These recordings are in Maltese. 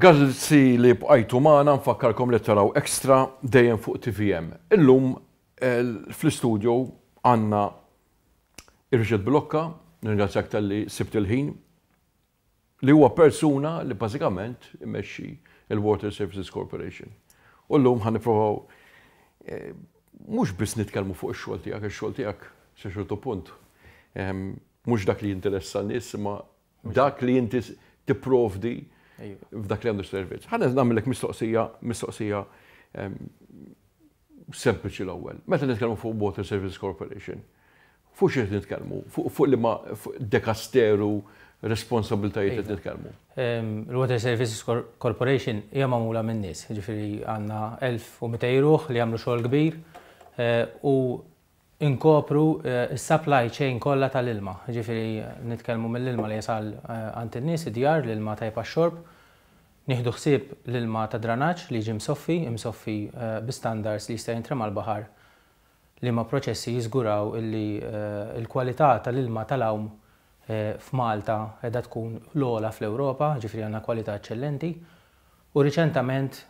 Grazzi li bqajtu magħna, nfakkarkom li taraw Extra dejjem fuq TVM. Illum fl-istudio għandna Richard Bilocca, nirringrazzjak talli sibt il-ħin, li huwa persuna li bażikament imexxi il-Water Services Corporation. U llum ħa nipprovaw mhux biss nitkellmu fuq ix-xogħol tiegħek, ix-xogħol tiegħek sa ċertu punt mhux dak li jinteressa n-nies imma dak li inti tipprovdi f'dak li għandu servizz. Ħa nagħmellek mistoqsija, mistoqsija sempliċi l-ewwel. Meta nitkellmu fuq Water Services Corporation, fuq xi nitkellmu? Fuq li ma dekasteru responsabiltajiet qed nitkellmu? Il-Water Services Corporation hija magħmula minn nies, ġifieri għandna 1200 ruħ li jagħmlu xogħol kbir u Inkopru s-supply chain kollha tal-ilma, jiġifieri nitkellmu mill-ilma li jasal għand in-nies, id-djar, l-ilma tajjeb għax-xorb. Nieħdu ħsieb l-ilma tad-dranaġġ li jiġi msoffi, imsoffi bi standards li jista' jintrema l-baħar, liema proċessi jiżguraw illi l-kwalità tal-ilma tal-għawm f'Malta qiegħda tkun l-ogħla fl-Ewropa, jiġifieri għandna kwalità eċċellenti. U riċentament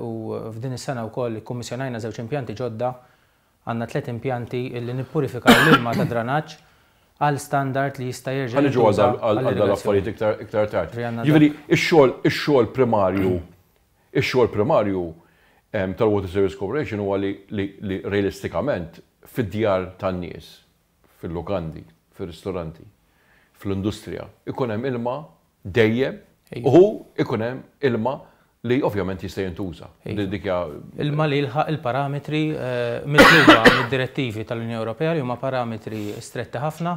u f'din is-sena wkoll ikkummissjonajna żewġ impjanti ġodda. Għandna tliet impjanti illi nippurifikaw l-ilma tad-dranaġġ għal standard li jista' jerġa' Ħa niġu jintuża għal dal għall-irrigazzjoni. affarijiet iktar iktar tard. Ġifieri għandna Jiġifieri dak. ix-xogħol ix-xogħol primarju ix-xogħol primarju tal-Water Service Corporation huwa li li li realistikament fid-djar tan-nies, fil-lukandi, fir-ristoranti, fl-industrija, ikun hemm ilma dejjem u ikun hemm ilma li ovvjament jista' jintuża. Dik hija Ilma li jilħaq il-parametri mitluba mid-direttivi tal-Unjoni Ewropea li huma parametri stretti ħafna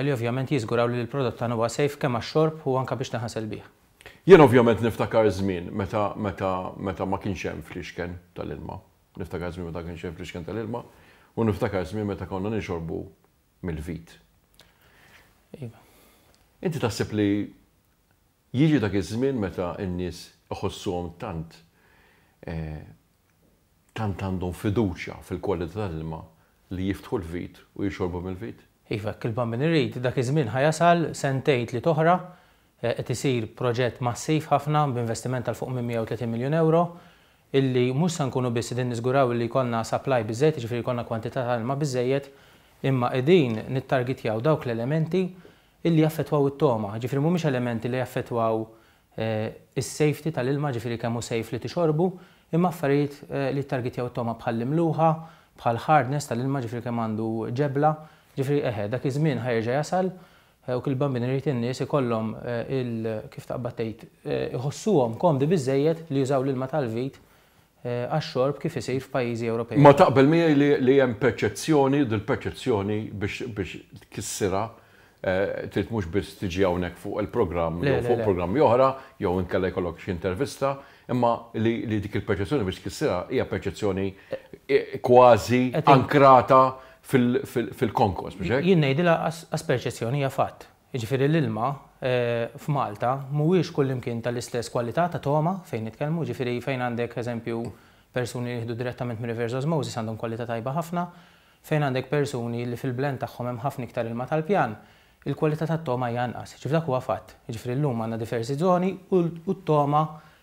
li ovvjament jiżguraw li l-prodott tagħna huwa safe kemm għax-xorb u anke biex tinħasel bih. Jien ovvjament niftakar żmien meta meta meta ma kienx hemm fliexken tal-ilma. Niftakar żmien meta ma kienx hemm fliexken tal-ilma u niftakar żmien meta konna nixorbu mill-vit. Iva. Inti taħseb li jiġi dak iż-żmien meta n-nies iħossuhom tant tant għandhom fiduċja fil-kwalità tal-ilma li jiftħu l-vit u jixorbu mill-vit? Iva, hekk il-Bambin irid, dak iż-żmien ħa jasal sentejn tliet oħra, qed isir proġett massiv ħafna b'investiment ta' 'l fuq minn 130 miljun ewro illi mhux se nkunu biss qegħdin niżguraw illi jkollna supply biżżejjed, jiġifieri jkollna kwantità ta' ilma biżżejjed, imma qegħdin nittargitjaw dawk l-elementi illi jaffettwaw it-togħma, jiġifieri mhumiex elementi li jaffettwaw is-safety tal-ilma, jiġifieri kemm hu safe li tixorbu, imma affarijiet li jittargitjaw it-togħma bħall-imluħa, bħall-hardness tal-ilma, jiġifieri kemm għandu ġebla, jiġifieri eħe, dak iż-żmien ħa jerġa' jasal u kif il-Bambin irid in-nies ikollhom il, kif taqbad tgħid, iħossuhom komdi biżżejjed li jużaw l-ilma tal-vit għax-xorb kif isir f'pajjiżi Ewropej Ma oħra. taqbel miegħi li li hemm perċezzjoni u dil-perċezzjoni biex biex tkissirha trid mhux biss tiġi hawnhekk fuq il-programm Le, jew le, fuq le. programmi oħra jew inkella jkollok xi intervista, imma li li dik il-perċezzjoni biex tkissirha hija perċezzjoni kważi Qed in ankrata fil-konkos, mhux hekk? Jien ngħidilha qas perċezzjoni hija fatt. Jiġifieri l-ilma f'Malta mhuwiex kullimkien tal-istess kwalità ta' togħma fejn nitkellmu, jiġifieri fejn għandek eżempju persuni li jieħdu direttament minn reverse osmosis għandhom kwalità tajba ħafna, fejn għandek persuni li fil-blend tagħhom hemm ħafna iktar ilma tal-pjan, il-kwalità tat-togħma hija anqas. Jiġifieri dak huwa fatt. Jiġifieri llum għandna diversi żoni u t-togħma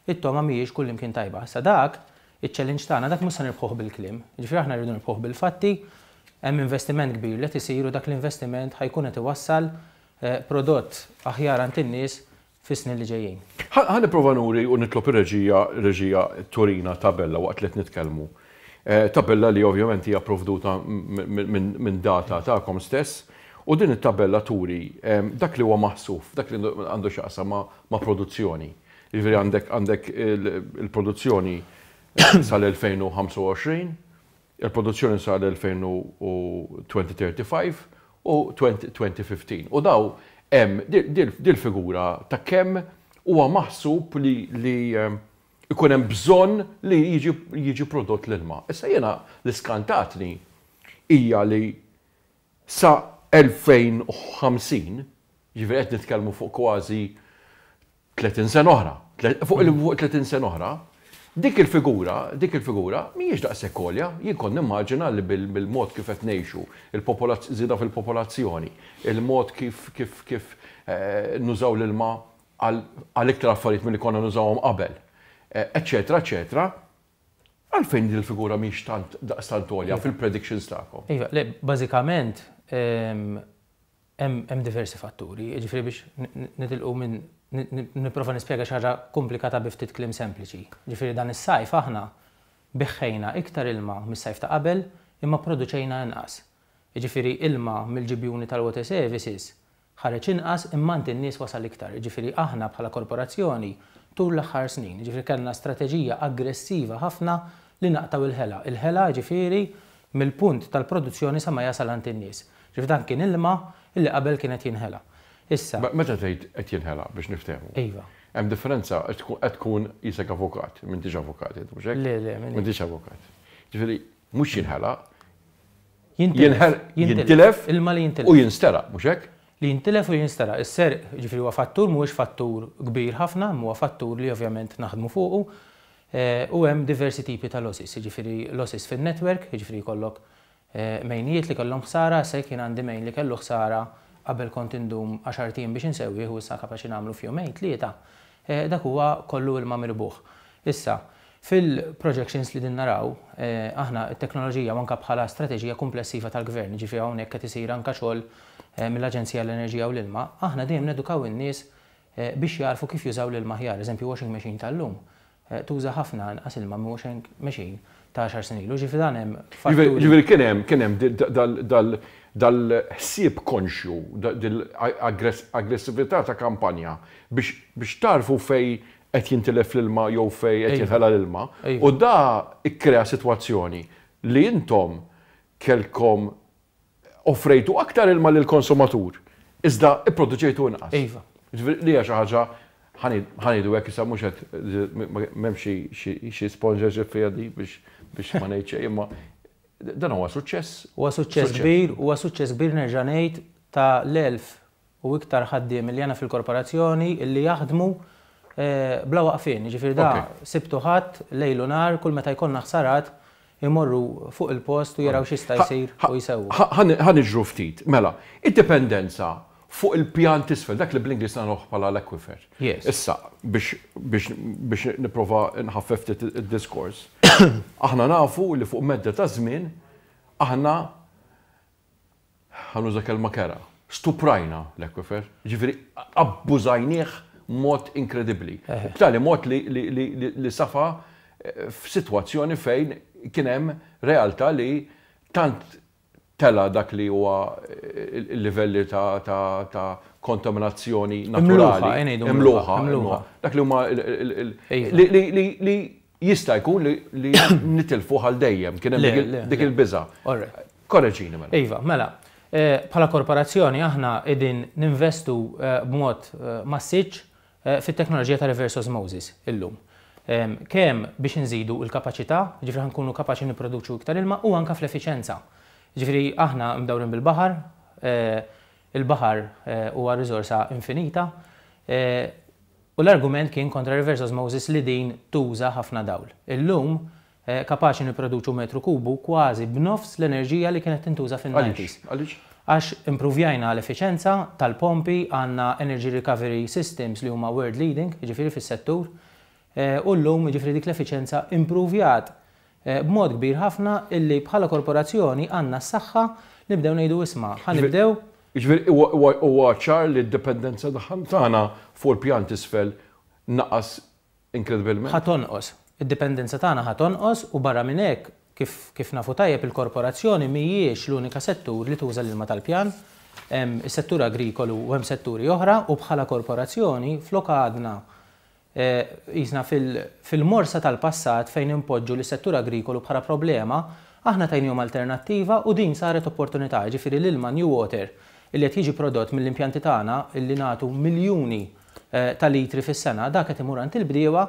it-togħma mhijiex kullimkien tajba. Issa dak Iċ-challenge tagħna dak mhux se nirbħuh bil-kliem. Jiġifieri aħna rridu nirbħuh bil-fatti, hemm investiment kbir li qed isir u dak l-investiment ħa jkun qed iwassal prodott aħjar għand in-nies fis-snin li ġejjin. Ħa nipprova nuri u nitlob ir-reġija reġija turina tabella waqt li qed nitkellmu. Tabella li ovvjament hija pprovduta minn data tagħkom stess u din it-tabella turi dak li huwa maħsub, dak li għandu x'jaqsam ma' produzzjoni. Jiġifieri għandek għandek il-produzzjoni sal-2025, il-produzzjoni sal-2035 u 2015. U daw hemm dil-figura ta' kemm huwa maħsub li li ikun hemm bżonn li jiġi jiġi prodott l-ilma. Issa jiena li skantatni hija li sa 2050, jiġifieri qed nitkellmu fuq kważi 30 sena oħra, fuq 30 sena oħra, dik il-figura, dik il-figura mhijiex daqshekk għolja. Jien kont nimmaġina li bil-mod kif qed ngħixu, il-żieda fil-popolazzjoni, il-mod kif kif kif nużaw l-ilma għal iktar affarijiet milli konna nużawhom qabel, eċċetera, eċċetera, għalfejn din il-figura mhix tant daqstant għolja fil-predictions tagħkom? Iva, le, bażikament hemm diversi fatturi, jiġifieri biex nitilqu minn nipprova nispjega xi ħaġa komplikata bi ftit kliem sempliċi. Ġifieri dan is-sajf aħna biħħejna iktar ilma mis-sajf ta' qabel imma pproduċejna inqas. Jiġifieri ilma mill-ġibjuni tal-water services ħareġ inqas imma għand in-nies wasal iktar. Jiġifieri aħna bħala korporazzjoni tul l-aħħar snin, jiġifieri kellna strateġija aggressiva ħafna li naqtgħu il-ħela. Il-ħela jiġifieri mill-punt tal-produzzjoni sa ma jasal għand in-nies. Jiġifieri dan kien ilma illi qabel kien qed jinħela. Issa. Meta tgħid qed jinħela biex niftehmu. Iva. Hemm differenza qed tkun qisek avukat, m'intix avukat int mhux hekk? Le, le, m'iniex. M'intix avukat. Ġifieri mhux jinħela, Jintilef. Jintilef. Ilma li jintilef. U jinsteraq, mhux hekk? Li jintilef u jinsteraq. Is-serq, jiġifieri huwa fattur, mhuwiex fattur kbir ħafna, imma huwa fattur li ovvjament naħdmu fuqu. U hemm diversi tipi ta' losses, jiġifieri losses fin-network, jiġifieri jkollok mejnijiet li kellhom ħsara, issa jekk jien għandi mejn li kellu ħsara qabel kont indum għaxart ijiem biex insewwih u issa kapaċi nagħmlu f'jumejn, tlieta, dak huwa kollu ilma mirbuħ. Issa, fil-projections li qegħdin naraw, aħna t-teknoloġija u anke bħala strateġija kumplessiva tal-Gvern, jiġifieri hawnhekk qed isir anke xogħol mill-Aġenzija għall-Enerġija u l-Ilma, aħna dejjem nedukaw in-nies biex jagħrfu kif jużaw l-ilma aħjar. Eżempju, washing machine tal-lum tuża ħafna inqas ilma minn washing machine ta' għaxar snin ilu. Ġifieri dan hemm fatturi. Ġifieri kien hemm kien hemm dal-ħsieb konxju, dil-aggressività ta' kampanja biex tagħrfu fejn qed jintilef l-ilma jew fejn qed jinħela l-ilma. U da kkrea sitwazzjoni li intom kellkom offrejtu aktar ilma lill-konsumatur, iżda pproduċejtu inqas. Iva. Jiġifieri li hija xi ħaġa, ħa ngħidu hekk issa mhux qed m'hemmx xi sponsorship fiha di biex ma ngħid xejn, imma dan huwa suċċess. Huwa suċċess kbir, huwa suċċess kbir nerġa' ngħid ta' l-1000 u iktar ħaddiem li għandna fil-korporazzjoni li jaħdmu bla waqfien. Jiġifieri da Sibt u Ħadd, lejl u nhar, kull meta jkollna ħsarat imorru fuq il-post u jaraw x'jista' jsir u jsewwu. Ħa niġru ftit. Mela, id-dipendenza fuq il-pjan t'isfel, dak li bl-Ingliż nagħruh bħala l-aquifer. Issa, biex biex biex nipprova nħaffef ftit id-diskors, aħna nafu li fuq medda ta' żmien aħna ħa nuża kelma kerha, stuprajna l-aquifer, jiġifieri abbużajnieh b'mod inkredibbli. B'tali mod li safa f'sitwazzjoni fejn kien hemm realtà li tant tela' dak li huwa l-livelli ta' kontaminazzjoni naturali. Imluħa, imluħa. Dak li huma li Jista' jkun li nitilfuh għal dejjem, kien hemm dik il-biża'. Korreġini mela. Iva, mela, bħala korporazzjoni aħna qegħdin ninvestu b'mod massiċċ fit-teknoloġija ta' reverse osmosis illum. Kemm biex inżidu l-kapaċità, jiġifieri ħa nkunu kapaċi nipproduċu iktar ilma u anke fl-effiċenza. Jiġifieri aħna mdawrin bil-baħar, il-baħar huwa riżorsa infinita, U l-argument kien kontra reverse osmosis li din tuża ħafna dawl. Illum, kapaċi nipproduċu metru kubu kważi b'nofs l-enerġija li kienet tintuża fin-nineties. Għaliex? Għax impruvjajna l-effiċenza tal-pompi, għandna energy recovery systems li huma world leading, jiġifieri fis-settur, u llum jiġifieri dik l-effiċenza impruvjat b'mod kbir ħafna illi bħala korporazzjoni għandna s-saħħa nibdew ngħidu isma' ħa nibdew Jiġifieri huwa ċar li d-dipendenza tagħna fuq il-pjan t'isfel naqas inkredibilment? Ħa tonqos. Id-dipendenza tagħna ħa tonqos u barra minn hekk, kif kif nafu tajjeb il-korporazzjoni mhijiex l-unika settur li tuża l-ilma tal-pjan. Hemm is-settur agrikolu u hemm setturi oħra u bħala korporazzjoni flok għadna Qisna fil-morsa tal-passat fejn inpoġġu lis-settur agrikolu bħala problema, aħna tajniehom alternattiva u din saret opportunità, jiġifieri l-ilma New Water illi qed jiġi prodott mill-impjanti tagħna illi nagħtu miljuni ta' litri fis-sena, dak qed imur għand il-bdiewa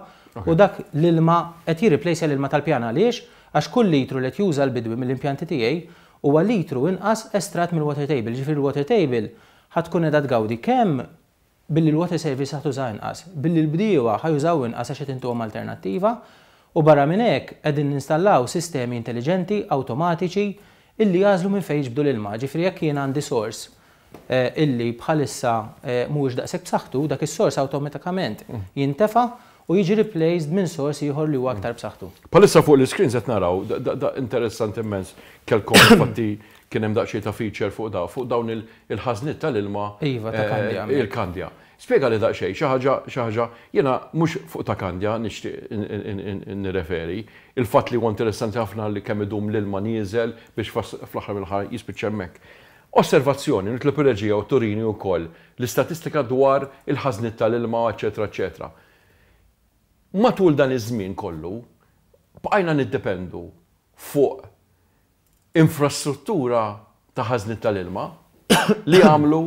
u dak l-ilma qed jirriplejsja l-ilma tal-pjan. Għaliex? Għax kull litru li qed juża l-bidwi mill-impjanti tiegħi huwa litru inqas estratt mill-water table, jiġifieri l-water table ħa tkun qiegħda tgawdi kemm billi l-water service ħa tuża inqas, billi l-bdiewa ħa jużaw inqas għax qed intuhom alternattiva, u barra minn hekk qegħdin ninstallaw sistemi intelliġenti, awtomatiċi, illi jagħżlu minn fejn jiġbdu l-ilma. Ġifieri jekk jien għandi source illi bħalissa mhuwiex daqshekk b'saħħtu, dak is-sors awtomatikament jintefa' u jiġi replaced minn sors ieħor li huwa aktar b'saħħtu. Bħalissa fuq l-iscreens qed naraw, da interessanti immens, kellkom infatti kien hemm daqsxejn ta' feature fuq da, fuq dawn il-ħażniet tal-ilma. Iva, ta' Kandja. Il-Kandja. Spjegali daqsxejn, xi ħaġa, xi ħaġa, jiena mhux fuq ta' Kandja nixtieq nirreferi, il-fatt li huwa interessanti ħafna li kemm idum l-ilma nieżel biex fl-aħħar mill-aħħar jispiċċa hemmhekk. Osservazzjoni, nitlob ir-reġija u turini wkoll l-istatistika dwar il-ħażniet tal-ilma, eċċetera, eċċetera. Matul dan iż-żmien kollu bqajna niddependu fuq infrastruttura ta' ħażniet tal-ilma li għamlu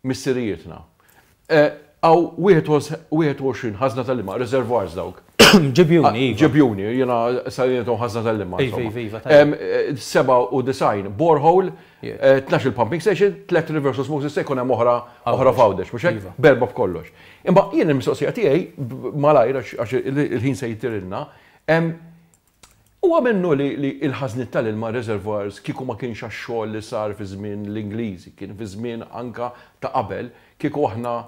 missirijietna. Hawn 21 ħażna tal-ilma, reservoirs dawk. Ġibjuni, iva. Ġibjuni, jiena sejjaħthom ħażna tal-ilma. Iva, iva, iva, tajjeb. 97 borehole, 12 pumping station, 3 reverse osmosis, se jkun hemm oħra oħra f'Għawdex, mhux hekk? Iva. Berba b'kollox. Imma jien il-mistoqsija tiegħi malajr għax il-ħin se jtirilna, huwa minnu li l-ħażniet tal-ilma reservoirs kieku ma kienx għax-xogħol li sar fi żmien l-Ingliżi, kien fi żmien anka ta' qabel, kieku aħna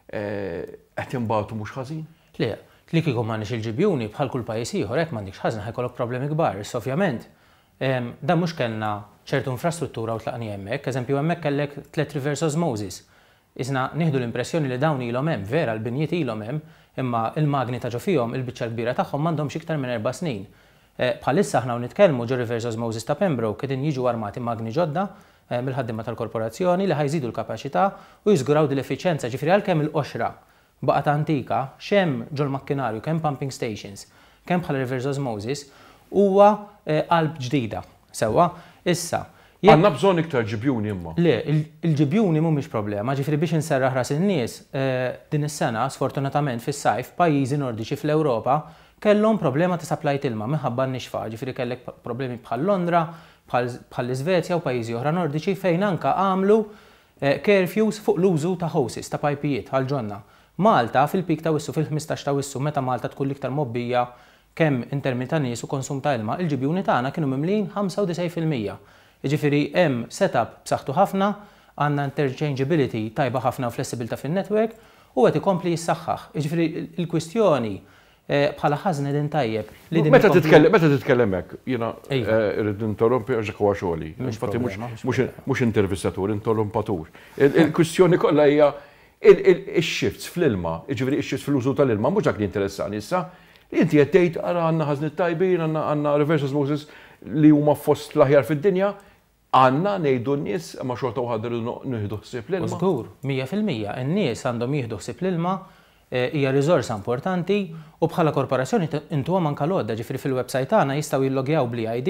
qed inbatu mhux ħażin? Le, li kieku m'għandniex il-ġibjuni bħal kull pajjiż ieħor hekk m'għandekx ħażna ħa jkollok problemi kbar. Issa ovvjament dan mhux kellna ċertu infrastruttura u tlaqni hemmhekk, eżempju hemmhekk kellek tliet reverse osmosis. Isna nieħdu l-impressjoni li dawn ilhom hemm, vera l-binjiet ilhom hemm, imma il-magni ta' ġo fihom il-biċċa l-kbira tagħhom m'għandhomx iktar minn 4 snin. Bħalissa aħna u nitkellmu ġo reverse osmosis ta' Pembroke qegħdin jiġu armati magni ġodda mill-ħaddiema tal-korporazzjoni li ħa jżidu l-kapaċità u jiżguraw din l-effiċjenza, ġifieri għalkemm il-qoxra baqgħet antika, x'hemm ġol-makkinarju, kemm pumping stations, kemm bħala reverse osmosis, huwa qalb ġdida. Sewwa, issa. Għandna bżonn iktar ġibjuni imma. Le, il-ġibjuni mhumiex problema, ġifieri biex inserraħ ras in-nies, din is-sena, sfortunatament fis-sajf, pajjiżi nordiċi fl-Ewropa kellhom problema ta' supply t'ilma minħabba n-nixfa, ġifieri kellek problemi bħal Londra, bħal l-Iżvezja u pajjiżi oħra nordiċi fejn anka għamlu curfews fuq l-użu ta' hoses, ta' pajpijiet għal ġonna. Malta fil-peak ta' Awwissu, fil-15 ta' Awwissu, meta Malta tkun l-iktar mgħobbija kemm in termini ta' nies u konsum ta' ilma, il-ġibjuni tagħna kienu mimlin 95%. Jiġifieri hemm setup b'saħħtu ħafna, għandna interchangeability tajba ħafna u flessibilità fin-network u qed ikompli jissaħħaħ. Jiġifieri il-kwistjoni bħala ħażna din tajjeb. Li din Meta titkellem meta titkellem hekk, jiena irrid ninterrompi għax huwa xogħli. Infatti mhux intervistatur, interrompatur. Il-kwistjoni kollha hija il-shifts fl-ilma, jiġifieri ix-shifts fl-użu tal-ilma, mhux dak li interessani issa. Inti qed tgħid ara għandna ħażniet tajbin, għandna reverse osmosis li huma fost l-aħjar fid-dinja, għandna ngħidu n-nies ma xorta waħda rridu nieħdu ħsieb l-ilma. Żgur, 100%, in-nies għandhom jieħdu ħsieb l-ilma, hija riżorsa importanti u bħala korporazzjoni intuhom anka l-għodda, ġifieri fil-website tagħna jistgħu jillogjaw bl-ID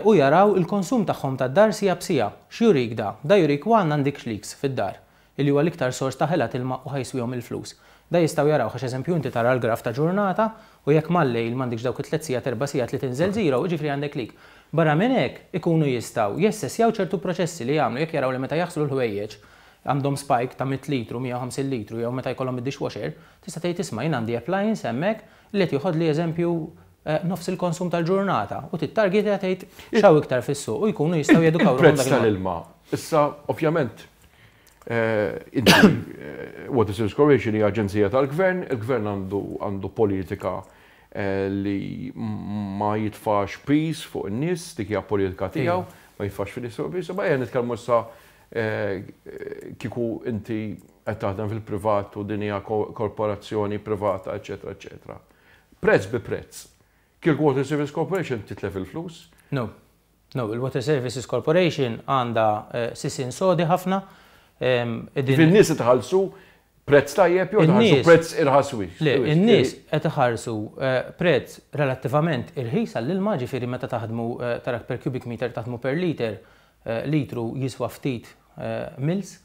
u jaraw il-konsum tagħhom tad-dar siegħa b'siegħa. X'jurik da? Da jurik one għandek leaks fid-dar, illi huwa l-iktar sors ta' ħela t'ilma u ħa jiswihom il-flus. Da jistgħu jaraw għax eżempju inti tara l-graf ta' ġurnata u jekk mal-lejl m'għandekx dawk it-3 sigħat, 4 sigħat li tinżel zero, jiġifieri għandek leak. Barra minn hekk ikunu jistgħu jassessjaw ċertu proċessi li jagħmlu jekk jaraw li meta jaħslu l-ħwejjeġ għandhom spike ta' 100 litru, 150 litru, jew meta jkollhom id-dishwasher, tista' tgħid isma' jien għandi appliance hemmhekk li qed joħodli eżempju nofs il-konsum tal-ġurnata u tittargetja tgħid x'hawn iktar fis-suq u jkunu jistgħu jedukaw ruħhom Il-prezz dak il-mod. tal-ilma. Issa, ovvjament, inti, Water Service Corporation hija aġenzija tal-gvern, il-gvern għandu politika li ma jitfax piż fuq in-nies, dik hija politika tiegħu, ma jitfax fuq nies piż, ma ejja nitkellmu issa kieku inti qed taħdem fil-privat u din hija korporazzjoni privata, eċetera, eċetera. Prezz bi prezz. Kieku Water Service Corporation titlef il-flus? No. No, il-Water Services Corporation għandha sisin sodi ħafna. In-nies tħallsu prezz tajjeb jew tħallsu prezz irħas wisq? Le, in-nies qed iħallsu prezz relattivament irħis għall-ilma, ġifieri meta taħdmu tarak per cubic meter taħdmu per liter, litru jiswa ftit mils,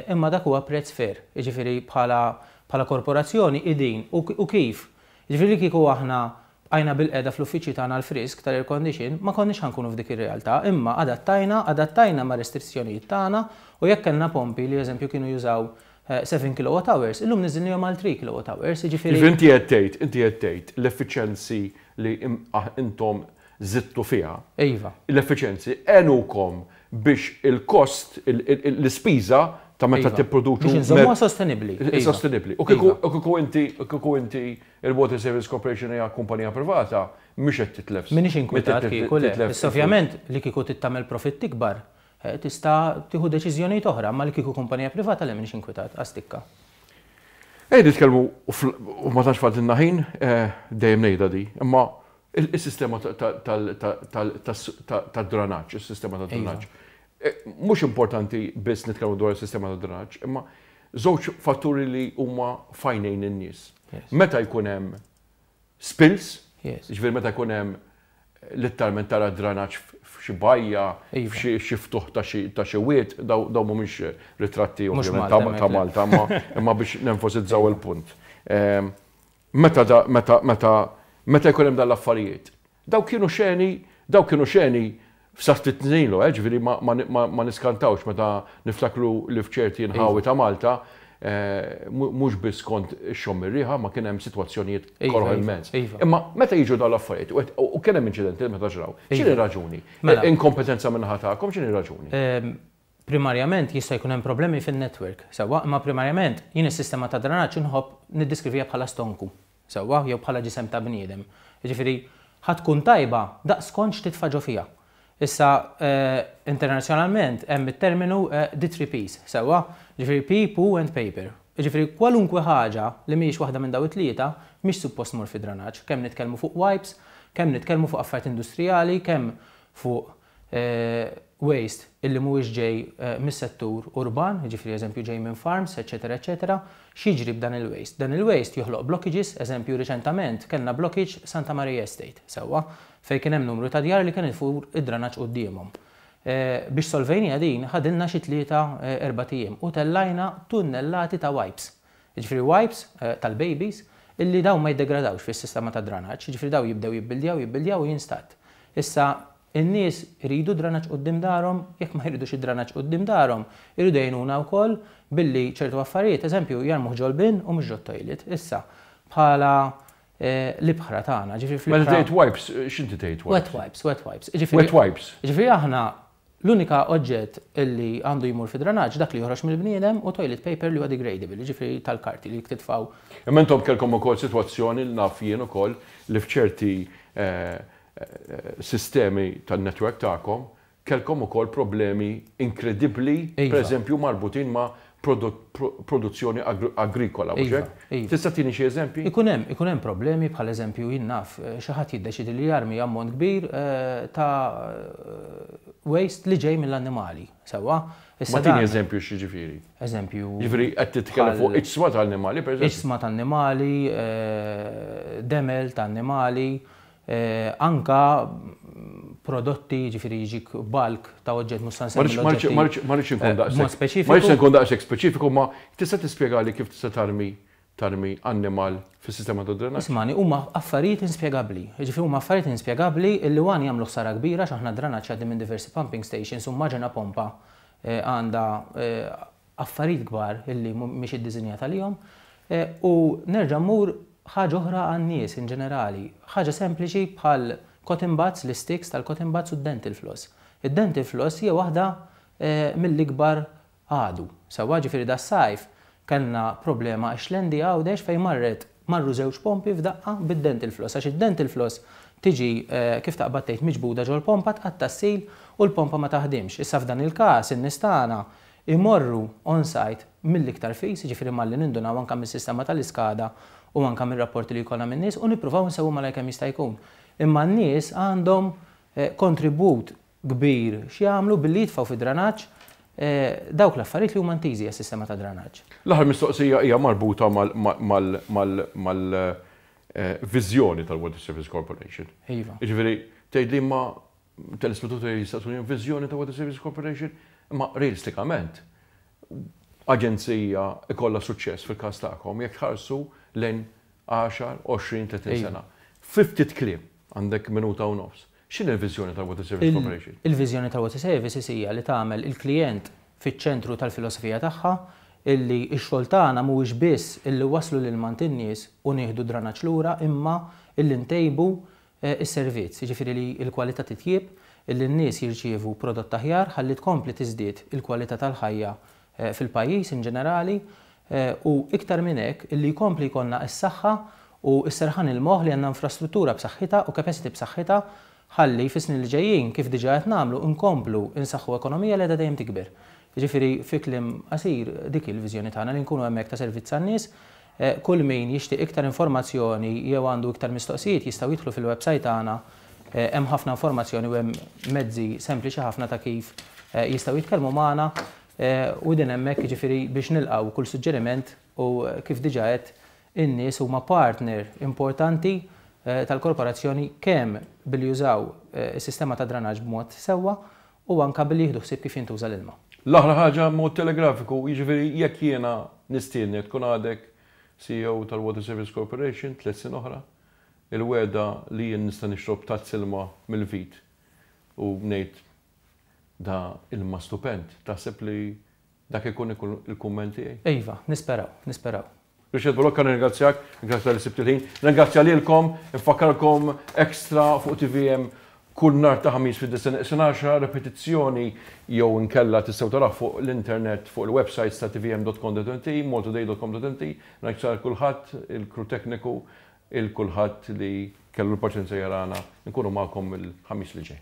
imma dak huwa prezz fair. Ġifieri bħala korporazzjoni idin u kif. Ġifieri kieku aħna bqajna bilqiegħda fl-uffiċċji tagħna l-frisk tal-air condition, ma konniex ħa nkunu f'dik ir-realtà, imma adattajna ma' restrizzjonijiet tagħna u jekk kellna pompi li eżempju kienu jużaw 7 kilowatt hours, illum niżilnihom għal 3 kilowatt hours, jiġifieri. Inti qed tgħid l-effiċenzi li intom żidtu fiha. Iva. L-effiċenzi għenukom. biex il-kost, l-ispiża ta' meta tipproduċu. Biex inżommuha sostenibbli. Sostenibbli. U kieku inti, kieku inti il-Water Service Corporation hija kumpanija privata, mhix qed titlef. M'iniex inkwetat kieku le. Issa ovvjament li kieku trid tagħmel profitt ikbar, tista' tieħu deċiżjonijiet oħra, imma li kieku kumpanija privata le m'iniex inkwetat, għas-tikka. Ejja nitkellmu, u ma tantx fadlilna ħin, dejjem ngħidha di, imma is-sistema tad-dranaġġ, is-sistema tad-dranaġġ. Mhux importanti biss nitkellmu dwar is-sistema tad-dranaġġ, imma żewġ fatturi li huma f'għajnejn in-nies. Meta jkun hemm spills, jiġifieri meta jkun hemm litteralment tara dranaġġ f'xi bajja, f'xi ftuħ ta' xi wied, dawn mhumiex ritratti ovvjament ta' Malta, imma biex nenfasizzaw il-punt. Meta meta meta meta jkun hemm dan l-affarijiet. Dawk kienu xeni, dawk kienu xeni f'sa ftit snin ilu, ġifieri ma niskantawx meta niftakru li f'ċerti nħawi ta' Malta mhux biss kont ixxomm ir-riħa ma kien hemm sitwazzjonijiet koroh immens. Imma meta jiġu dawn l-affarijiet u kien hemm inċidenti meta ġraw, x'inhi r-raġuni? Inkompetenza min-naħa tagħkom, x'inhi r-raġuni? Primarjament jista' jkun hemm problemi fin-network, sewwa, imma primarjament jien is-sistema ta' dranaġġ inħobb niddiskrivija bħala stonku, sewwa, jew bħala ġisem ta' bniedem. Jiġifieri ħa tkun tajba daqs kont x'titfa' ġo fiha. Issa internazzjonalment hemm it-terminu the three Ps, sewwa, jiġifieri P, poo and paper. Jiġifieri kwalunkwe ħaġa li mhijiex waħda minn dawn it-tlieta mhix suppost tmur fid-dranaġġ, kemm nitkellmu fuq wipes, kemm nitkellmu fuq affarijiet industrijali, kemm fuq waste illi mhuwiex ġej mis-settur urban, jiġifieri eżempju ġej minn farms, eċċetera eċċetera, x'jiġri b'dan il-waste? Dan il-waste joħloq blockages, eżempju riċentament kellna blockage Santa Maria Estate, sewwa, fejn kien hemm numru ta' djar li kien ifur id-dranaġġ quddiemhom. Biex solvejniha din ħadilna xi tlieta erbat ijiem u tellajna tunnellati ta' wipes. Jiġifieri wipes tal-babies illi dawn ma jiddegradawx fis-sistema tad-dranaġġ, jiġifieri dawn jibdew jibbildjaw, jibbildjaw u jinstadd. Issa In-nies iridu dranaġġ quddiem darhom, jekk ma jridux id-dranaġġ quddiem darhom, iridu jgħinuna wkoll billi ċertu affarijiet, eżempju, jarmuh ġol-bin u mhux ġot-toilet. Issa, bħala l-ibħra tagħna, ġifieri fl-ibħra. Meta tgħid wipes, x'inti tgħid wipes? Wet wipes, wet wipes. Wet wipes. Ġifieri aħna l-unika oġġett li għandu jmur fid-dranaġġ dak li joħroġ mill-bniedem u toilet paper li huwa degradable, jiġifieri tal-karti li titfgħu. Imma intom kellkom ukoll sitwazzjoni li naf jien ukoll li f'ċerti sistemi tan-network tagħkom kellkom ukoll problemi inkredibbli, pereżempju marbutin ma' produzzjoni agrikola, mhux hekk? Tista' tini xi eżempji? Ikun hemm, ikun hemm problemi bħal eżempju jien naf xi ħadd jiddeċiedi li jarmi ammont kbir ta' waste li ġej mill-annimali, sewwa? Issa tini eżempju x'jiġifieri. Eżempju. Jiġifieri qed titkellem fuq iġsma ta' annimali, pereżempju. Iġsma ta' annimali, demel ta' annimali, Anka prodotti, jiġifieri jiġik bulk ta' oġġett mhux se nsemmi l-oġġetti. Ma rridx inkun daqshekk speċifiku. Ma rridx inkun daqshekk speċifiku, ma tista' tispjegali kif tista' tarmi tarmi annimal fis-sistema tad-drenaġġ? Ismagħni, huma affarijiet inspjegabbli. Jiġifieri huma affarijiet inspjegabbli illi one jagħmlu ħsara kbira għax aħna d-drenaġġ jgħaddi minn diversi pumping stations u immaġina pompa għandha affarijiet kbar illi mhix iddisinjata għalihom. U nerġa' mmur ħaġa oħra għan-nies in ġenerali, ħaġa sempliċi bħal cotton buds, l-isticks tal-cotton buds u d-dental floss. Id-dental floss hija waħda mill-ikbar għadu. Sewwa, ġifieri das-sajf kellna problema x-Xlendi Għawdex fejn marret marru żewġ pompi f'daqqa bid-dental floss għax id-dental floss tiġi kif taqbad tgħid miġbuda ġol-pompa tqatta' s-seal u l-pompa ma taħdimx. Issa f'dan il-każ in-nies tagħna imorru on site mill-iktar fis, jiġifieri malli nindunaw anke mis-sistema tal-iskada u anke mir-rapporti li jkollna min-nies u nippruvaw insewwu malajr kemm jista' jkun. Imma n-nies għandhom kontribut kbir x'jagħmlu billi jitfgħu fid-dranaġġ dawk l-affarijiet li huma intiżi għas-sistema tad-dranaġġ. L-aħħar mistoqsija hija marbuta mal-viżjoni tal-Water Service Corporation. Iva. Jiġifieri tgħidli imma Telespettaturi jistaqsuni viżjoni ta' Water Services Corporation, imma realistikament aġenzija ikollha suċċess fil-każ tagħkom jekk tħarsu lejn 10, 20, 30 sena. Fi ftit kliem, għandek minuta u nofs. X'inhi l-viżjoni tal-Water Services Corporation? Il-viżjoni tal-Water Services hija li tagħmel il-klijent fiċ-ċentru tal-filosofija tagħha, illi x-xogħol tagħna mhuwiex biss illi wasslu l-ilma għand in-nies u nieħdu d-dranaġġ lura imma illi ntejbu is-servizz, jiġifieri li l-kwalità titjieb, illi n-nies jirċievu prodott aħjar ħalli tkompli tiżdied il-kwalità tal-ħajja fil-pajjiż in ġenerali u iktar minn hekk illi jkompli jkollna s-saħħa u s-serħan il-moħħ li għandna infrastruttura b'saħħitha u capacity b'saħħitha ħalli fis-snin li ġejjin, kif diġà qed nagħmlu, nkomplu nsaħħu ekonomija li qiegħda dejjem tikber. Jiġifieri fi kliem qasir dik hi l-viżjoni tagħna, li nkunu hemmhekk ta' servizz għan-nies. Kull min jixtieq iktar informazzjoni jew għandu iktar mistoqsijiet jistgħu jidħlu fil-websajt tagħna, hemm ħafna informazzjoni u hemm mezzi sempliċi ħafna ta' kif jistgħu jitkellmu magħna u din hemmhekk jiġifieri biex nilqgħu kull suġġeriment u kif diġà għedt in-nies huma partner importanti tal-korporazzjoni kemm billi jużaw is-sistema ta' dranaġġ b'mod sewwa u anke billi jieħdu ħsieb kif jintuża l-ilma. L-aħħar ħaġa b'mod telegrafiku, jiġifieri jekk jiena nistiednek tkun għadek CEO tal-Water Service Corporation 3 snin oħra, il-wegħda li jien nista' nixrob tazz ilma mill-vit u ngħid da ilma stupend, taħseb li dak ikun il-kumment tiegħi? Iva, nisperaw, nisperaw. Richard Bilocca, nirringrazzjak, grazzi talli sibt il-ħin. Nirringrazzja lilkom, infakkarkom Extra fuq TVM kull nhar ta' Ħamis fid-disgħa neqsin għaxra, repetizzjoni jew inkella tistgħu taraw fuq l-internet fuq il-websites ta' tvm.com.mt, maltoday.com.mt. Nirringrazzja lil kulħadd, il-crew tekniku, il kulħadd li kellu l-paċenzja jarana. Nkunu magħkom il-Ħamis li ġej.